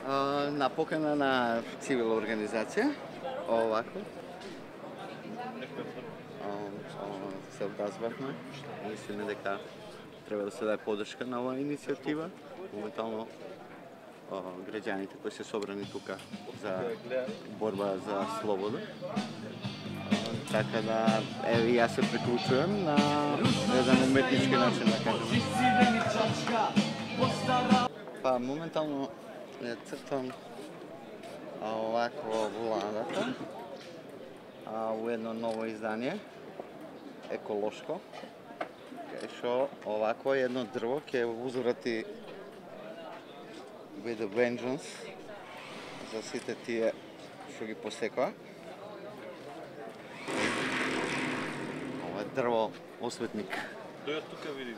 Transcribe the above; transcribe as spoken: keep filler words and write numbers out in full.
На покана на цивилна организација, овако. Се образвавме, мислиме дека треба да се даде поддршка на оваа иницијатива. Моментално граѓаните кои се собрани тука за борба за слобода. Така да, еве јас се приклучувам на еден уметнички начин да кажем. Па моментално е цртам овако владата, а у едно ново издание, еколошко, кај шо овако едно дрво ќе узврати with a vengeance за сите тие што ги посекоа. Ова е дрво осветник. Дојат тука види.